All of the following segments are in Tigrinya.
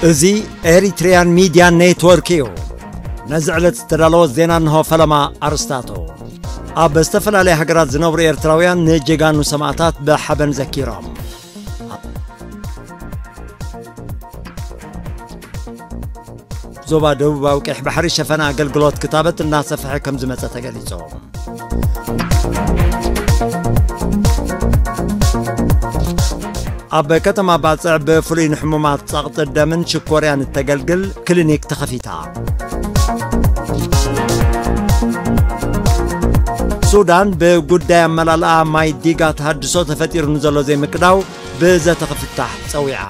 እዚ ኤሪትሪያን ሚድያ ኔትወርክ እዩ። ነዚ ዕለት ዝተዳለወ ዜና እንሆ። ፈለማ ኣርስታቱ። ኣብ ዝተፈላለያ ሃገራት ዝነብሩ ኤርትራውያን ንጀጋኑ ሰማእታት ብሓበን ዘኪሮም። ዞባ ደቡባዊ ቀይሕ ባሕሪ ሸፈነ ኣገልግሎት ክታበት እናሰፍሐ ከም ዝመጸ ተገሊጹ። ኣብ ከተማ ባጽዕ ብፍሉይ ንሕሙማት ጸቕጢ ደምን ሽኮርያን እተገልግል ክሊኒክ ተኸፊታ። ሱዳን ብጉዳይ ኣመላልኣ ማይ ዲጋ ተሃድሶ ተፈጢሩ ንዘሎ ዘይምቅዳው ብዘተ ክፍታሕ ጸዊዓ።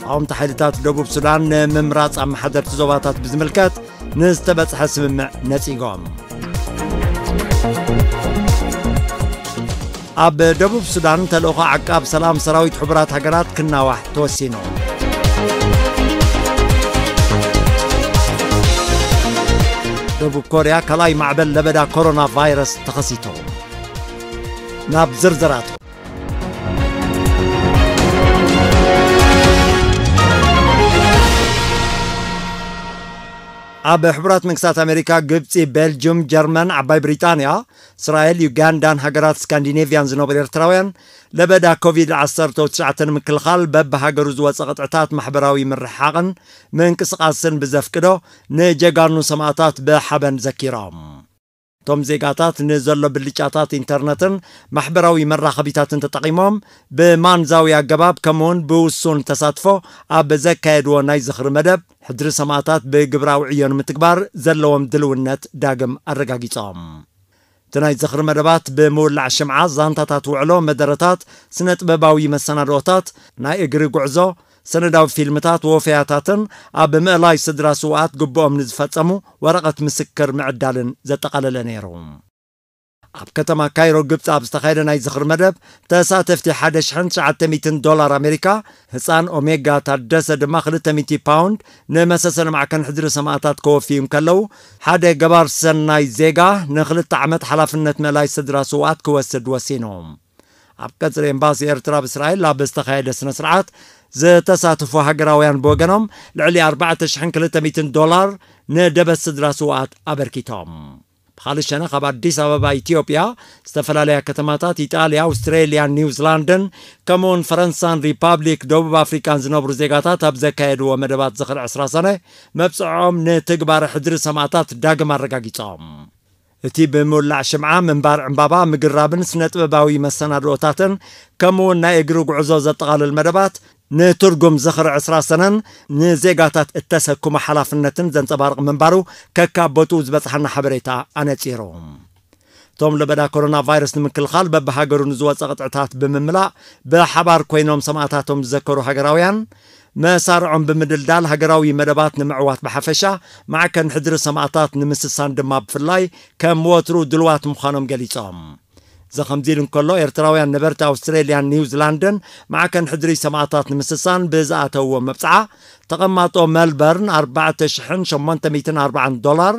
ተቃወምቲ ሓይልታት ደቡብ ሱዳን ንምምራጽ ኣመሓደርቲ ዞባታት ብዝምልከት ንዝተበጽሐ ስምምዕ ነጺጎም። ኣብ ደቡብ ሱዳን ተልእኾ ዓቃብ ሰላም ሰራዊት ሕቡራት ሃገራት ክናዋሕ ተወሲኑ። ደቡብ ኮርያ ካልኣይ ማዕበል ለበዳ ኮሮና ቫይረስ ተኸሲቱ። ናብ ዝርዝራቱ። ኣብ ሕቡራት መንግስታት ኣሜሪካ፣ ግብጺ፣ ቤልጅዩም፣ ጀርመን፣ ዓባይ ብሪጣንያ፣ እስራኤል፣ ዩጋንዳን ሃገራት ስካንዲኔቭያን ዝነብሩ ኤርትራውያን ለበዳ ኮቪድ ዓሰርተ ትሽዓተ ንምክልኻል በብሃገሩ ዝወጸ ቅጥዕታት ማሕበራዊ ምርሕሓቕን ምንቅስቓስን ብዘፍቅዶ ንጀጋኑ ሰማእታት ብሓበን ዘኪሮም። እቶም ዜጋታት ንዘሎ ብልጫታት ኢንተርነትን ማሕበራዊ መራኸቢታትን ተጠቒሞም ብማንዛዊ ኣገባብ ከምኡውን ብውሱን ተሳትፎ ኣብ ዘካየድዎ ናይ ዝኽሪ መደብ፣ ሕድሪ ሰማእታት ብግብራዊ ዕዮ ንምትግባር ዘለዎም ድልውነት ዳግም ኣረጋጊጾም። እቲ ናይ ዝኽሪ መደባት ብምውላዕ ሽምዓ፣ ዛንታታት ውዕሎ፣ መደረታት፣ ስነ ጥበባዊ መሰናድኦታት፣ ናይ እግሪ ጉዕዞ፣ ሰነዳዊ ፊልምታት፣ ወፈያታትን ኣብ ምእላይ ስድራ ስውኣት ግብኦም ንዝፈጸሙ ወረቐት ምስክር ምዕዳልን ዘጠቓለለ ነይሩ። ኣብ ከተማ ካይሮ ግብጺ ኣብ ዝተኻየደ ናይ ዝኽሪ መደብ፣ ተሳተፍቲ ሓደ ሽሕን ትሽዓተ ሚእትን ዶላር ኣሜሪካ፣ ህጻን ኦሜጋ ታደሰ ድማ ክልተ ሚእቲ ፓውንድ ንመሰሰን ማዕከን ሕድሪ ሰማእታት ከወፍዩ እንከለዉ፣ ሓደ ገባር ሰናይ ዜጋ ንክልተ ዓመት ሓላፍነት ምእላይ ስድራ ስውኣት ክወስድ ወሲኑ። ኣብ ቀጽሪ ኤምባሲ ኤርትራ ኣብ እስራኤል ኣብ ዝተኻየደ ስነ ስርዓት ዝተሳተፉ ሃገራውያን ብወገኖም፣ ልዕሊ ኣርባዕተ ሽሕን ክልተ ሚእትን ዶላር ንደበት ስድራ ስውኣት ኣበርኪቶም። ብኻልእ ሸነኽ፣ ኣብ ኣዲስ ኣበባ ኢትዮጵያ፣ ዝተፈላለያ ከተማታት ኢጣልያ፣ ኣውስትሬልያን ኒውዚላንድን ከምኡውን ፈረንሳን ሪፓብሊክ ደቡብ ኣፍሪቃን ዝነብሩ ዜጋታት ኣብ ዘካየድዎ መደባት ዝኽሪ ዕስራ ሰነ፣ መብጽዖም ንትግባረ ሕድሪ ሰማእታት ዳግም ኣረጋጊጾም። እቲ ብምውላዕ ሽምዓ፣ ምንባር ዕምባባ፣ ምግራብን ስነ ጥበባዊ መሰናድኦታትን ከምኡውን ናይ እግሪ ጉዕዞ ዘጠቓልል መደባት፣ ንትርጉም ዝኽሪ ዕስራ ሰነን ንዜጋታት እተሰክሞ ሓላፍነትን ዘንጸባርቕ ምንባሩ ከካብ ቦትኡ ዝበጽሓና ሓበሬታ ኣነጺሩ። እቶም ለበዳ ኮሮና ቫይረስ ንምክልኻል በብሃገሩ ንዝወጸ ቅጥዕታት ብምምላእ፣ ብሓባር ኮይኖም ሰማእታቶም ዝዘከሩ ሃገራውያን፣ መሳርዖም ብምድልዳል ሃገራዊ መደባት ንምዕዋት ብሓፈሻ፣ ማዕከን ሕድሪ ሰማእታት ንምስሳን ድማ ብፍላይ ከም ወትሩ ድልዋት ምዃኖም ገሊጾም። እዚ ከምዚ ኢሉ እንከሎ፣ ኤርትራውያን ነበርቲ ኣውስትሬልያን ኒውዚላንድን ማዕከን ሕድሪ ሰማእታት ንምስሳን ብዝኣተውዎ መብጽዓ፣ ተቐማጦ መልበርን ኣርባዕተ ሽሕን ሸሞንተ ሚእትን ኣርባዓን ዶላር፣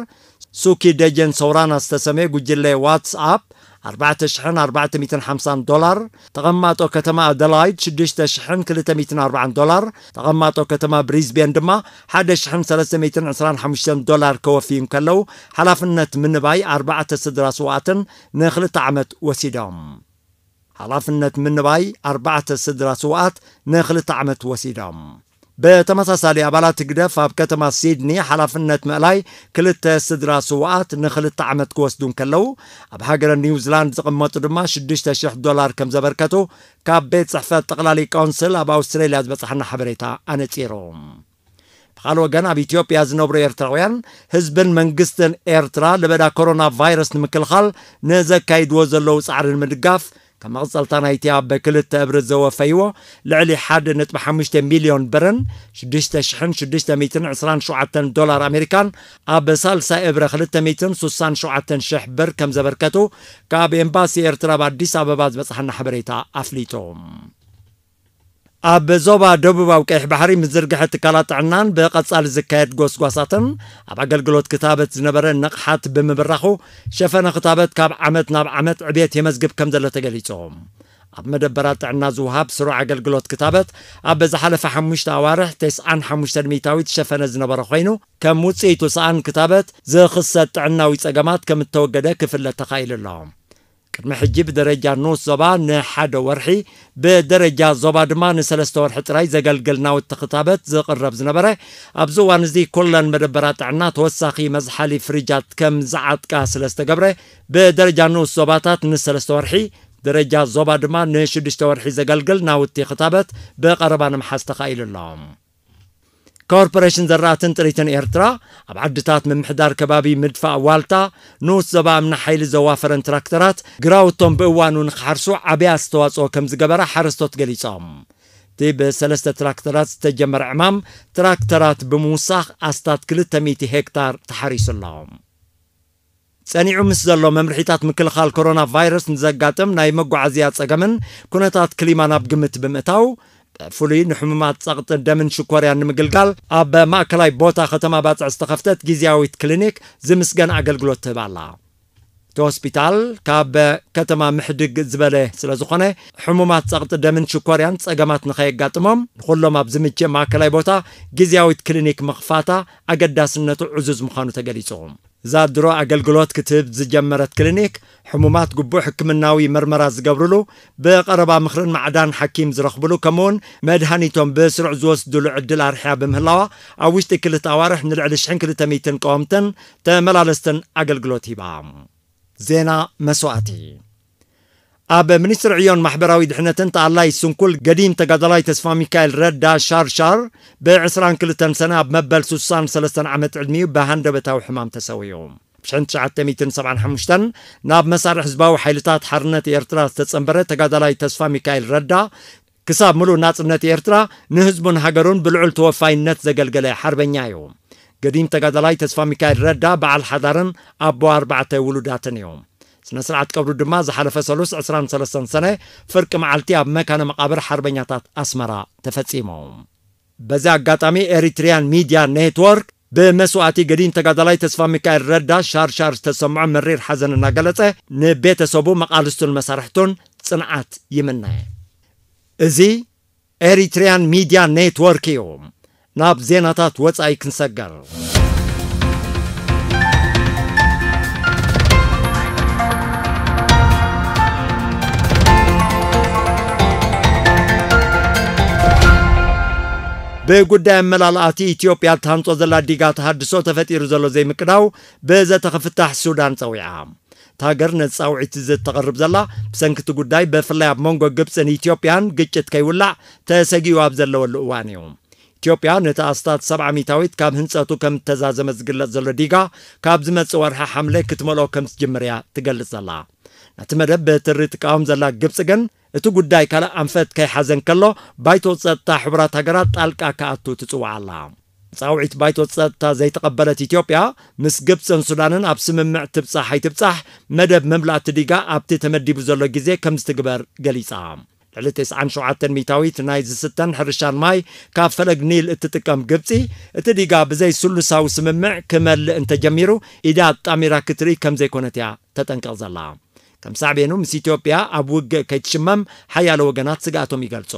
ሱኪ ደጀን ሰውራና ዝተሰመየ ጉጅለ ዋትስኣፕ ኣርባዕተ ሽሕን ኣርባዕተ ሚእትን ሓምሳን ዶላር፣ ተቐማጦ ከተማ ኣደላይድ ሽዱሽተ ሽሕን ክልተ ሚእትን ኣርባዓን ዶላር፣ ተቐማጦ ከተማ ብሪዝቤን ድማ ሓደ ሽሕን ሰለስተ ሚእትን ዕስራን ሓሙሽተን ዶላር ከወፍዩ እንከለዉ፣ ሓላፍነት ምንባይ ኣርባዕተ ስድራ ስውኣትን ንክልተ ዓመት ወሲዶም። ሓላፍነት ምንባይ ኣርባዕተ ስድራ ስውኣት ንክልተ ዓመት ወሲዶም። ብተመሳሳሊ፣ ኣባላት ህግደፍ ኣብ ከተማ ሲድኒ ሓላፍነት ምእላይ ክልተ ስድራ ስውኣት ንክልተ ዓመት ክወስዱ እንከለዉ፣ ኣብ ሃገረ ኒውዚላንድ ዝቕመጡ ድማ ሽዱሽተ ሽሕ ዶላር ከም ዘበርከቱ ካብ ቤት ጽሕፈት ጠቕላሊ ካውንስል ኣብ ኣውስትሬልያ ዝበጽሓና ሓበሬታ ኣነጺሩ። ብኻልእ ወገን፣ ኣብ ኢትዮጵያ ዝነብሩ ኤርትራውያን፣ ህዝብን መንግስትን ኤርትራ ለበዳ ኮሮና ቫይረስ ንምክልኻል ንዘካይድዎ ዘለዉ ጻዕሪ ንምድጋፍ፣ ከም መቐጸልታ ናይቲ ኣብ ክልተ እብሪ ዘወፈይዎ ልዕሊ ሓደ ነጥቢ ሓሙሽተ ሚልዮን ብርን ሽዱሽተ ሽሕን ሽዱሽተ ሚእትን ዕስራን ሸውዓተን ዶላር ኣሜሪካን፣ ኣብ ሳልሳይ እብረ ክልተ ሚእትን ስሳን ሸውዓተን ሽሕ ብር ከም ዘበርከቱ፣ ካብ ኤምባሲ ኤርትራ ኣብ ኣዲስ ኣበባ ዝበጽሓና ሓበሬታ ኣፍሊጡ። ኣብ ዞባ ደቡባዊ ቀይሕ ባሕሪ፣ ምዝርግሐ ትካላት ጥዕናን ብቐጻሊ ዝካየድ ጎስጓሳትን፣ ኣብ ኣገልግሎት ክታበት ዝነበረ ንቕሓት ብምብራኹ፣ ሸፈነ ክታበት ካብ ዓመት ናብ ዓመት ዕብየት የመዝግብ ከም ዘሎ ተገሊጹ። ኣብ መደበራት ጥዕና ዝወሃብ ስሩዕ ኣገልግሎት ክታበት ኣብ ዝሓለፈ ሓሙሽተ ኣዋርሕ ተስዓን ሓሙሽተ ሚእታዊት ዝሸፈነ ዝነበረ ኮይኑ፣ ከም ውፅኢቱ ሰኣን ክታበት ዝኽሰት ጥዕናዊ ፀገማት ከም እተወገደ ክፍለጥ ተኻኢሉ ኣሎ። ቅድሚ ሕጂ ብደረጃ ንኡስ ዞባ ንሓደ ወርሒ፣ ብደረጃ ዞባ ድማ ንሰለስተ ወርሒ ጥራይ ዘገልግል ናውቲ ክታበት ዝቕረብ ዝነበረ፣ ኣብዚ እዋን እዚ ኩለን መደበራት ጥዕና ተወሳኺ መዝሓሊ ፍሪጃት ከም ዝዓጥቃ ስለ ዝተገብረ፣ ብደረጃ ንኡስ ዞባታት ንሰለስተ ወርሒ፣ ደረጃ ዞባ ድማ ንሽዱሽተ ወርሒ ዘገልግል ናውቲ ክታበት ብቐረባ ንምሓዝ ተኻኢሉ ኣሎ። ኮርፖሬሽን ዘራእትን ጥሪትን ኤርትራ፣ ኣብ ዓድታት ምምሕዳር ከባቢ ምድፋእ ዋልታ፣ ንኡስ ዞባ እምኒ ሓይሊ ዘዋፈረን ትራክተራት፣ ግራውቶም ብእዋኑ ንክሓርሱ ዓብይ ኣስተዋጽኦ ከም ዝገበራ ሓረስቶት ገሊጾም። እቲ ብሰለስተ ትራክተራት ዝተጀመረ ዕማም፣ ትራክተራት ብምውሳኽ ኣስታት ክልተ ሚእቲ ሄክታር ተሓሪሱ ኣሎ። ጸኒዑ ምስ ዘሎ መምርሒታት ምክልኻል ኮሮና ቫይረስ ንዘጋጥም ናይ መጓዓዝያ ጸገምን ኩነታት ክሊማን ኣብ ግምት ብምእታው፣ ብፍሉይ ንሕሙማት ጸቕጢ ደምን ሽኮርያን ንምግልጋል ኣብ ማእከላይ ቦታ ከተማ ባጽዕ ዝተኸፍተት ግዝያዊት ክሊኒክ ዝምስገን ኣገልግሎት ትህብ ኣላ። እቲ ሆስፒታል ካብ ከተማ ምሕድግ ዝበለ ስለ ዝኾነ፣ ሕሙማት ጸቕጢ ደምን ሽኮርያን ጸገማት ንኸየጋጥሞም፣ ንኹሎም ኣብ ዝምችእ ማእከላይ ቦታ ግዝያዊት ክሊኒክ ምኽፋታ ኣገዳስነቱ ዕዙዝ ምዃኑ ተገሊጹ። እዛ ድሮ ኣገልግሎት ክትህብ ዝጀመረት ክሊኒክ፣ ሕሙማት ግቡእ ሕክምናዊ መርመራ ዝገብርሉ፣ ብቐረባ ምኽርን ማዕዳን ሓኪም ዝረኽብሉ፣ ከምኡውን መድሃኒቶም ብስሩዕ ዝወስድሉ ዕድል ኣርሕያ ብምህላዋ፣ ኣብ ውሽጢ ክልተ ኣዋርሕ ንልዕሊ ሽሕን ክልተ ሚእትን ቀወምትን ተመላለስትን ኣገልግሎት ሂባ። ዜና መስዋእቲ። ኣብ ሚኒስትሪ ዕዮን ማሕበራዊ ድሕነትን ተኣላይ ስንኩል ገዲም ተጋዳላይ ተስፋ ሚካኤል ረዳ ሻርሻር፣ ብ ዕስራን ክልተን ሰነ ኣብ መበል ሱሳን ሰለስተን ዓመት ዕድሚኡ ብሃንደበታዊ ሕማም ተሰዊኡ። ብ ሽሕን ትሽዓተ ሚእትን ሰብዓን ሓሙሽተን ናብ መሳርሒ ህዝባዊ ሓይልታት ሓርነት ኤርትራ ዝተጸንበረ ተጋዳላይ ተስፋ ሚካኤል ረዳ፣ ክሳብ ምሉእ ናጽነት ኤርትራ ንህዝቡን ሃገሩን ብልዑል ተወፋይነት ዘገልገለ ሓርበኛ እዩ። ገዲም ተጋዳላይ ተስፋ ሚካኤል ረዳ በዓል ሓዳርን ኣቦ ኣርባዕተ ውሉዳትን እዩ። ስነ ስርዓት ቀብሩ ድማ ዝሓለፈ ሰሉስ ዕስራን ሰለስተን ሰነ ፍርቂ መዓልቲ ኣብ መካነ መቓብር ሓርበኛታት ኣስመራ ተፈጺሙ። በዚ ኣጋጣሚ ኤሪትሪያን ሚድያ ኔትወርክ ብመስዋእቲ ገዲም ተጋዳላይ ተስፋ ሚካኤል ረዳ ሻርሻር ዝተሰምዖ መሪር ሓዘን እናገለጸ፣ ንቤተሰቡ፣ መቓልስቱን መሳርሕቱን ጽንዓት ይምነ። እዚ ኤሪትሪያን ሚድያ ኔትወርክ እዩ። ናብ ዜናታት ወጻኢ ክንሰገር። ብጉዳይ ኣመላልኣቲ ኢትዮጵያ እትሃንጾ ዘላ ዲጋ ተሃድሶ ተፈጢሩ ዘሎ ዘይምቅዳው ብዘተ ክፍታሕ ሱዳን ጸዊዓ። እታ ሃገር ነዚ ጻውዒት እዚ እተቕርብ ዘላ፣ ብሰንኪ እቲ ጉዳይ ብፍላይ ኣብ መንጎ ግብጽን ኢትዮጵያን ግጭት ከይውላዕ ተሰጊኡ ኣብ ዘለወሉ እዋን እዩ። ኢትዮጵያ ነቲ ኣስታት ሰብዓ ሚእታዊት ካብ ህንጸቱ ከም እተዛዘመ ዝግለጽ ዘሎ ዲጋ፣ ካብ ዝመጽእ ወርሒ ሓምለ ክትመልኦ ከም ትጅምር እያ ትገልጽ ዘላ። ነቲ መደብ ብትሪ ትቃወም ዘላ ግብጺ ግን፣ እቲ ጉዳይ ካልእ ኣንፈት ከይሓዘ እንከሎ፣ ባይቶ ጸጥታ ሕቡራት ሃገራት ጣልቃ ክኣቱ ትጽውዕ ኣላ። ጻውዒት ባይቶ ጸጥታ ዘይተቐበለት ኢትዮጵያ፣ ምስ ግብጽን ሱዳንን ኣብ ስምምዕ ትብጻሕ ኣይትብጻሕ፣ መደብ ምምላእ እቲ ዲጋ ኣብቲ ተመዲቡ ዘሎ ግዜ ከም ዝትግበር ገሊጻ። ልዕሊ ተስዓን ሸውዓተን ሚእታዊት ናይ ዝስተን ሕርሻን ማይ ካብ ፈለግ ኒል እትጥቀም ግብጺ፣ እቲ ዲጋ ብዘይ ስሉሳዊ ስምምዕ ክመልእ እንተጀሚሩ፣ ኢዳ ኣጣሚራ ክትርኢ ከም ዘይኮነት እያ ተጠንቅቕ ዘላ። ከም ሳዕቤኑ፣ ምስ ኢትዮጵያ ኣብ ውግእ ከይትሽመም ሓያሎ ወገናት ስግኣቶም ይገልጹ።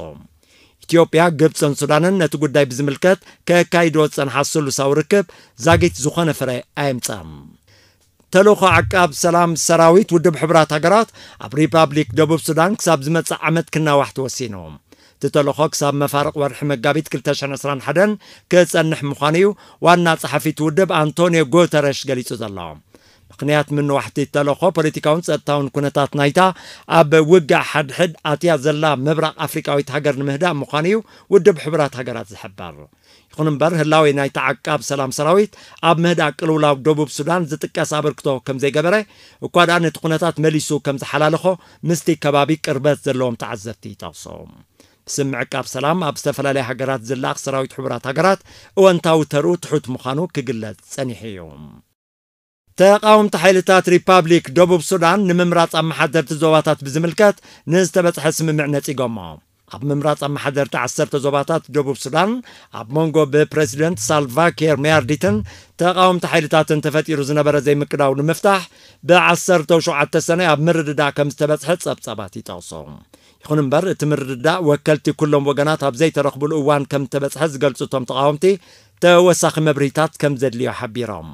ኢትዮጵያ፣ ግብጽን ሱዳንን ነቲ ጉዳይ ብዝምልከት ከካይድዎ ዝጸንሓ ስሉሳዊ ርክብ ዛጊት ዝኾነ ፍረ ኣየምጸን። ተልእኾ ዓቃብ ሰላም ሰራዊት ውድብ ሕቡራት ሃገራት ኣብ ሪፓብሊክ ደቡብ ሱዳን ክሳብ ዝመጽእ ዓመት ክናዋሕ ተወሲኑ። እቲ ተልእኾ ክሳብ መፋርቕ ወርሒ መጋቢት ክልተ ሽሕን ዕስራን ሓደን ክጸንሕ ምዃኑ እዩ ዋና ጸሓፊ እቲ ውድብ ኣንቶንዮ ጉተረሽ ገሊጹ ዘሎ። ምኽንያት ምንዋሕ እቲ ተልእኾ ፖለቲካውን ጸጥታውን ኩነታት ናይታ ኣብ ውግእ ሓድሕድ ኣትያ ዘላ ምብራቕ ኣፍሪቃዊት ሃገር ንምህዳእ ምዃኑ እዩ ውድብ ሕቡራት ሃገራት ዝሕበር። ይኹን እምበር፣ ህላዌ ናይቲ ዓቃብ ሰላም ሰራዊት ኣብ ምህዳእ ቅልውላው ደቡብ ሱዳን ዝጥቀስ ኣበርክቶ ከም ዘይገበረ፣ እኳ ደኣ ነቲ ኩነታት መሊሱ ከም ዝሓላለኾ ምስቲ ከባቢ ቅርበት ዘለዎም ተዓዘብቲ ይጠቕሱ። ብስም ምዕቃብ ሰላም ኣብ ዝተፈላለያ ሃገራት ዝለኣኽ ሰራዊት ሕቡራት ሃገራት እወንታዊ ተርኡ ትሑት ምዃኑ ክግለጽ ጸኒሑ እዩ። ተቓወምቲ ሓይልታት ሪፓብሊክ ደቡብ ሱዳን ንምምራጽ ኣመሓደርቲ ዞባታት ብዝምልከት ንዝተበጽሐ ስምምዕ ነጺጎሞ። ኣብ ምምራጽ ኣመሓደርቲ ዓሰርተ ዞባታት ደቡብ ሱዳን፣ ኣብ መንጎ ብፕረሲደንት ሳልቫ ኪር ማያርዲትን ተቓወምቲ ሓይልታትን ተፈጢሩ ዝነበረ ዘይምቅዳው ንምፍታሕ፣ ብ ዓሰርተ ሸውዓተ ሰነ ኣብ ምርድዳእ ከም ዝተበጽሐ ጸብጻባት ይጠቕሱ። ይኹን እምበር፣ እቲ ምርድዳእ ወከልቲ ኩሎም ወገናት ኣብ ዘይተረኽቡሉ እዋን ከም እተበጽሐ ዝገልጹ እቶም ተቓወምቲ፣ ተወሳኺ መብርሂታት ከም ዘድልዮ ሓቢሮም።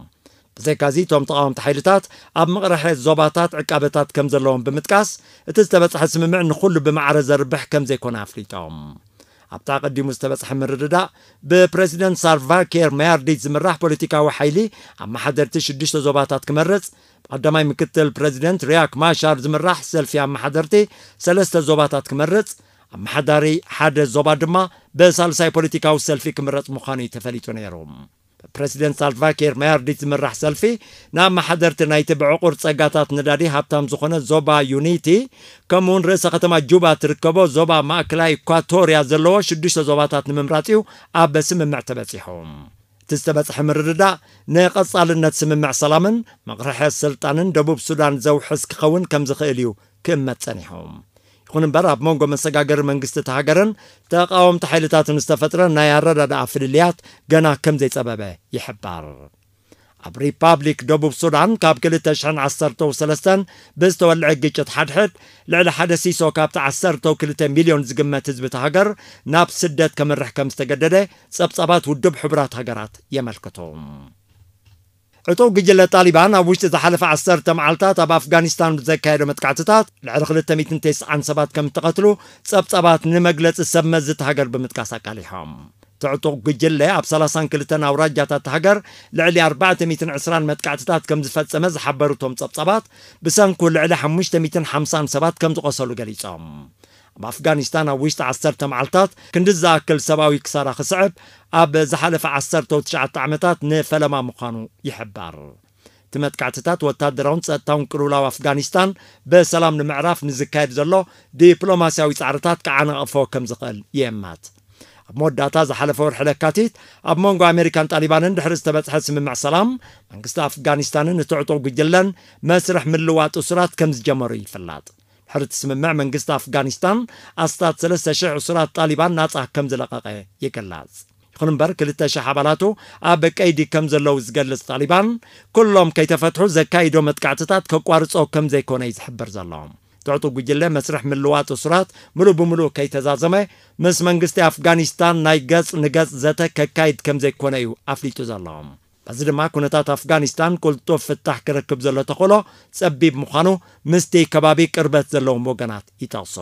ብዘይካዚ፣ እቶም ተቓወምቲ ሓይልታት ኣብ ምቕርሐ ዞባታት ዕቃበታት ከም ዘለዎም ብምጥቃስ፣ እቲ ዝተበጽሐ ስምምዕ ንኹሉ ብማዕረ ዘርብሕ ከም ዘይኮነ ኣፍሊጦም። ኣብቲ ኣቐዲሙ ዝተበጽሐ ምርድዳእ፣ ብፕረዚደንት ሳልቫ ኪር ማያርዲት ዝምራሕ ፖለቲካዊ ሓይሊ ኣመሓደርቲ ሽዱሽተ ዞባታት ክመርጽ፣ ብቐዳማይ ምክትል ፕረዚደንት ሪያክ ማሻር ዝምራሕ ሰልፊ ኣመሓደርቲ ሰለስተ ዞባታት ክመርጽ፣ ኣመሓዳሪ ሓደ ዞባ ድማ ብሳልሳይ ፖለቲካዊ ሰልፊ ክምረጽ ምዃኑ እዩ ተፈሊጡ ነይሩ። ብፕረዚደንት ሳልቫ ኪር ማያርዲት ዝምራሕ ሰልፊ፣ ንኣመሓደርቲ ናይቲ ብዕቑር ጸጋታት ነዳዲ ሃብታም ዝኾነ ዞባ ዩኒቲ፣ ከምኡውን ርእሰ ከተማ ጁባ ትርከቦ ዞባ ማእከላይ ኢኳቶርያ ዘለዎ ሽዱሽተ ዞባታት ንምምራጽ እዩ ኣብ ስምምዕ ተበጺሑ። እቲ ዝተበጽሐ ምርድዳእ፣ ንቐጻልነት ስምምዕ ሰላምን መቕርሐ ስልጣንን ደቡብ ሱዳን ዘውሕስ ክኸውን ከም ዝኽእል እዩ ክእመት ጸኒሑ። ይኹን እምበር፣ ኣብ መንጎ መሰጋገሪ መንግስቲ እታ ሃገርን ተቓወምቲ ሓይልታትን ዝተፈጥረ ናይ ኣረዳድኣ ፍልልያት ገና ከም ዘይጸበበ ይሕበር። ኣብ ሪፓብሊክ ደቡብ ሱዳን፣ ካብ ክልተ ሽሕን ዓሰርተው ሰለስተን ብዝተወልዐ ግጭት ሓድሕድ፣ ልዕሊ ሓደ ሲሶ ካብቲ ዓሰርተው ክልተ ሚልዮን ዝግመት ህዝቢ እታ ሃገር ናብ ስደት ከምርሕ ከም ዝተገደደ ጸብጻባት ውድብ ሕቡራት ሃገራት የመልክቱ። ዕጡቕ ጉጅለ ጣሊባን ኣብ ውሽጢ ዝሓለፈ ዓሰርተ መዓልታት ኣብ ኣፍጋኒስታን ብዘካየዶ መጥቃዕትታት፣ ልዕሊ ክልተ ሚእትን ተስዓን ሰባት ከም እተቐትሉ ጸብጻባት ንመግለጺ ሰብ መዚ እታ ሃገር ብምጥቃስ ኣቃሊሖም። እቲ ዕጡቕ ጉጅለ ኣብ ሰላሳን ክልተን ኣውራጃታት እታ ሃገር ልዕሊ ኣርባዕተ ሚእትን ዕስራን መጥቃዕትታት ከም ዝፈጸመ ዝሓበሩ እቶም ጸብጻባት፣ ብሰንኩ ልዕሊ ሓሙሽተ ሚእትን ሓምሳን ሰባት ከም ዝቖሰሉ ገሊጾም። ኣብ ኣፍጋኒስታን ኣብ ውሽጢ ዓሰርተ መዓልታት ክንዲ ዝኣክል ሰብኣዊ ክሳራ ክስዕብ ኣብ ዝሓለፈ ዓሰርተ ትሽዓተ ዓመታት ንፈለማ ምዃኑ ይሕበር። እቲ መጥቃዕትታት ወታደራውን ጸጥታውን ቅልውላው ኣፍጋኒስታን ብሰላም ንምዕራፍ ንዝካየድ ዘሎ ዲፕሎማስያዊ ጻዕርታት ክዓናቕፎ ከም ዝኽእል ይእመት። ኣብ መወዳእታ ዝሓለፈ ወርሒ ለካቲት፣ ኣብ መንጎ ኣሜሪካን ጣሊባንን ድሕሪ ዝተበጽሐ ስምምዕ ሰላም፣ መንግስቲ ኣፍጋኒስታንን እቲ ዕጡቕ ጉጅለን መስርሕ ምልዋጥ እሱራት ከም ዝጀመሩ ይፍለጥ። ድሕሪ እቲ ስምምዕ፣ መንግስቲ ኣፍጋኒስታን ኣስታት ሰለስተ ሽሕ እሱራት ጣሊባን ናጻ ከም ዝለቐቐ ይግለጽ። ይኹን እምበር፣ ክልተ ሽሕ ኣባላቱ ኣብ ቀይዲ ከም ዘለዉ ዝገልጽ ጣሊባን፣ ኩሎም ከይተፈትሑ ዘካይዶ መጥቃዕትታት ከቋርጾ ከም ዘይኮነ እዩ ዝሕብር ዘሎ። እቲ ዕጡቕ ጉጅለ መስርሕ ምልዋጥ እሱራት ምሉእ ብምሉእ ከይተዛዘመ፣ ምስ መንግስቲ ኣፍጋኒስታን ናይ ገጽ ንገጽ ዘተ ከካይድ ከም ዘይኮነ እዩ ኣፍሊጡ ዘሎ። በዚ ድማ፣ ኩነታት ኣፍጋኒስታን ቅልጡፍ ፍታሕ ክረክብ ዘሎ ተኽእሎ ጸቢብ ምዃኑ ምስቲ ከባቢ ቅርበት ዘለዎም ወገናት ይጠቕሱ።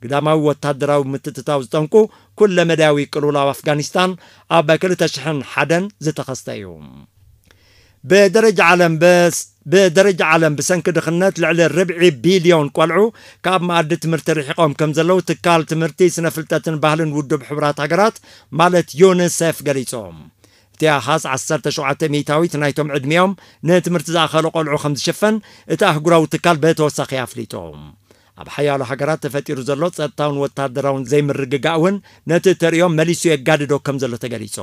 ግዳማዊ ወታደራዊ ምትእትታው ዝጠንቁ ኩለ መዳያዊ ቅልውላው ኣፍጋኒስታን ኣብ ክልተ ሽሕን ሓደን ዝተኸስተ እዩ። ብደረጃ ዓለም በስ-፣ ብደረጃ ዓለም ብሰንኪ ድኽነት ልዕሊ ርብዒ ቢልዮን ቆልዑ ካብ መኣዲ ትምህርቲ ርሒቖም ከም ዘለዉ ትካል ትምህርቲ፣ ስነ ፍልጠትን ባህልን ውድብ ሕቡራት ሃገራት ማለት ዩኒሴፍ ገሊጹ። እቲ ኣሃዝ ዓሰርተ ሸውዓተ ሚእታዊት ናይቶም ዕድሚኦም ንትምህርቲ ዝኣኸሉ ቆልዑ ከም ዝሽፍን እቲ ኣህጉራዊ ትካል ብተወሳኺ ኣፍሊጡ። ኣብ ሓያሎ ሃገራት ተፈጢሩ ዘሎ ጸጥታውን ወታደራውን ዘይምርግጋእ እውን ነቲ ተርእዮ መሊሱ የጋድዶ ከም ዘሎ ተገሊጹ።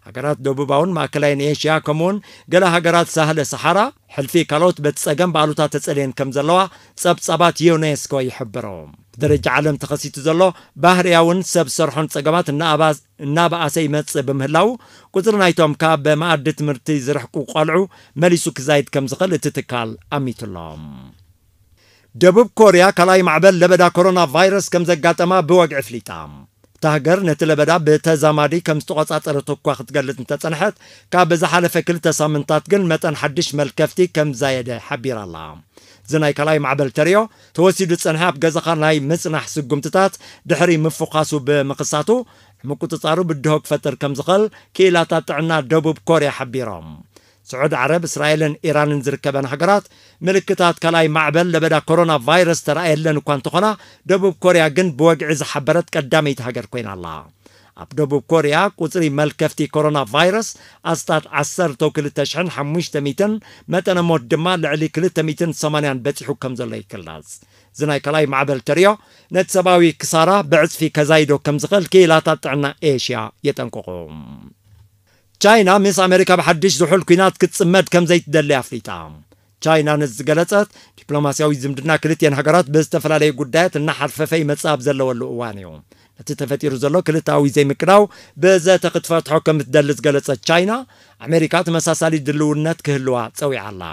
ሃገራት ደቡባውን ማእከላይን ኤሽያ፣ ከምኡውን ገለ ሃገራት ሳህለ ሰሓራ፣ ሕልፊ ካልኦት በቲ ጸገም ብኣሉታ ተጸልየን ከም ዘለዋ ጸብጻባት ዩኔስኮ ይሕብሩ። ብደረጃ ዓለም ተኸሲቱ ዘሎ ባህርያውን ሰብ ሰርሖን ጸገማት እናኣባ-፣ እናበኣሰ ይመጽእ ብምህላው፣ ቁጽሪ ናይቶም ካብ መኣዲ ትምህርቲ ዝርሕቁ ቆልዑ መሊሱ ክዛይድ ከም ዝኽእል እቲ ትካል ኣሚቱሎም። ደቡብ ኮርያ ካልኣይ ማዕበል ለበዳ ኮሮና ቫይረስ ከም ዘጋጠማ ብወግዒ ኣፍሊጣ። እታ ሃገር ነቲ ለበዳ ብተዛማዲ ከም ዝተቖጻጸረት እኳ ክትገልጽ እንተጸንሐት፣ ካብ ዝሓለፈ ክልተ ሳምንታት ግን መጠን ሓድሽ መልከፍቲ ከም ዛየደ ሓቢራ ኣላ። እዚ ናይ ካልኣይ ማዕበል ተርእዮ፣ ተወሲዱ ዝጸንሐ ኣብ ገዛኻ ናይ ምጽናሕ ስጉምትታት ድሕሪ ምፍዃሱ ብምኽሳቱ፣ ምቁጽጻሩ ብድሆ ክፈጥር ከም ዝኽእል ክኢላታት ጥዕና ደቡብ ኮርያ ሓቢሮም። ስዑድ ዓረብ፣ እስራኤልን ኢራንን ዝርከበን ሃገራት፣ ምልክታት ካልኣይ ማዕበል ለበዳ ኮሮና ቫይረስ ተራእየለን እኳ እንተኾና፣ ደቡብ ኮርያ ግን ብወግዒ ዝሓበረት ቀዳመይቲ ሃገር ኮይና ኣላ። ኣብ ደቡብ ኮርያ፣ ቁጽሪ መልከፍቲ ኮሮና ቫይረስ ኣስታት ዓሰርተ ክልተ ሽሕን ሓሙሽተ ሚእትን፣ መጠነ ሞት ድማ ልዕሊ ክልተ ሚእትን ሰማንያን በጺሑ ከም ዘሎ ይግለጽ። እዚ ናይ ካልኣይ ማዕበል ተርእዮ፣ ነቲ ሰብኣዊ ክሳራ ብዕጽፊ ከዛይዶ ከም ዝኽእል ክኢላታት ጥዕና ኤሽያ የጠንቅቑ። ቻይና ምስ ኣሜሪካ ብሓድሽ ዝሑል ኲናት ክትጽመድ ከም ዘይትደሊ ኣፍሊጣ። ቻይና ነዚ ዝገለጸት፣ ዲፕሎማስያዊ ዝምድና ክልቲኤን ሃገራት ብዝተፈላለዩ ጉዳያት እናሓልፈፈ ይመጽእ ኣብ ዘለወሉ እዋን እዩ። ነቲ ተፈጢሩ ዘሎ ክልተኣዊ ዘይምቅዳው ብዘተ ክትፈትሖ ከም እትደሊ ዝገለጸት ቻይና፣ ኣሜሪካ ተመሳሳሊ ድልውነት ክህልዋ ጸዊዓ ኣላ።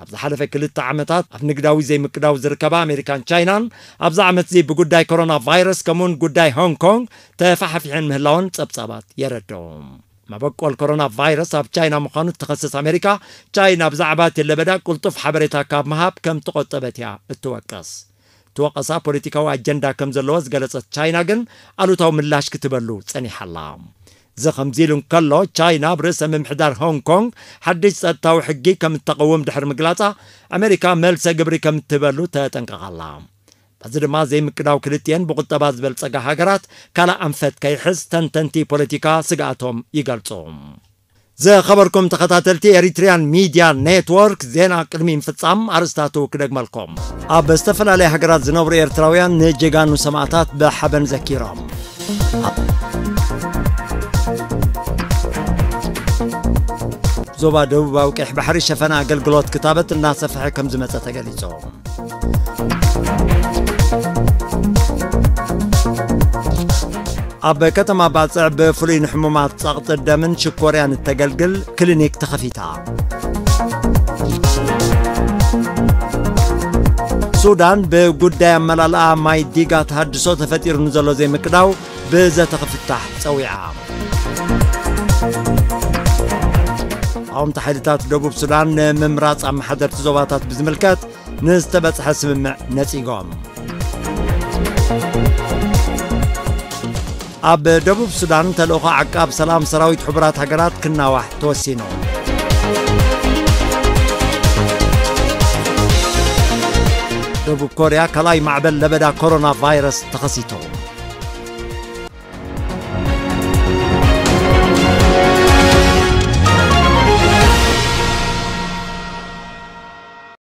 ኣብ ዝሓለፈ ክልተ ዓመታት ኣብ ንግዳዊ ዘይምቅዳው ዝርከባ ኣሜሪካን ቻይናን፣ ኣብዚ ዓመት እዚ ብጉዳይ ኮሮና ቫይረስ ከምኡውን ጉዳይ ሆንግ ኮንግ ተፋሓፊሐን ምህላወን ጸብጻባት የረድኡ። መበቆል ኮሮና ቫይረስ ኣብ ቻይና ምዃኑ እትኸስስ ኣሜሪካ፣ ቻይና ብዛዕባ እቲ ለበዳ ቅልጡፍ ሓበሬታ ካብ ምሃብ ከም ተቖጠበት እያ እትወቅስ። እቲ ወቐሳ ፖለቲካዊ ኣጀንዳ ከም ዘለዎ ዝገለጸት ቻይና ግን፣ ኣሉታዊ ምላሽ ክትበሉ ጸኒሓ ኣላ። እዚ ከምዚ ኢሉ እንከሎ፣ ቻይና ኣብ ርእሰ ምምሕዳር ሆንግ ኮንግ ሓድሽ ጸጥታዊ ሕጊ ከም እተቐውም ድሕሪ ምግላጻ፣ ኣሜሪካ መልሰ ግብሪ ከም እትህበሉ ተጠንቀቓ ኣላ። በዚ ድማ ዘይምቅዳው ክልቲኤን ብቁጠባ ዝበልጸጋ ሃገራት ካልእ ኣንፈት ከይሕዝ ተንተንቲ ፖለቲካ ስግኣቶም ይገልጹ። ዝኸበርኩም ተኸታተልቲ ኤሪትሪያን ሚድያ ኔትወርክ፣ ዜና ቅድሚ ምፍጻም ኣርእስታቱ ክደግመልኩም። ኣብ ዝተፈላለያ ሃገራት ዝነብሩ ኤርትራውያን ንጀጋኑ ሰማእታት ብሓበን ዘኪሮም። ኣብ ዞባ ደቡባዊ ቀይሕ ባሕሪ ሸፈነ ኣገልግሎት ክታበት እናሰፍሐ ከም ዝመጸ ተገሊጹ። ኣብ ከተማ ባጽዕ ብፍሉይ ንሕሙማት ጸቕጢ ደምን ሽኮርያን እተገልግል ክሊኒክ ተኸፊታ። ሱዳን ብጉዳይ ኣመላልኣ ማይ ዲጋ ተሃድሶ ተፈጢሩ ንዘሎ ዘይምቅዳው ብዘተ ክፍታሕ ጸዊዓ። ተቓወምቲ ሓይልታት ደቡብ ሱዳን ንምምራጽ ኣመሓደርቲ ዞባታት ብዝምልከት ንዝተበጽሐ ስምምዕ ነጺጎም። ኣብ ደቡብ ሱዳን ተልእኾ ዓቃብ ሰላም ሰራዊት ሕቡራት ሃገራት ክናዋሕ ተወሲኑ። ደቡብ ኮርያ ካልኣይ ማዕበል ለበዳ ኮሮና ቫይረስ ተኸሲቱ።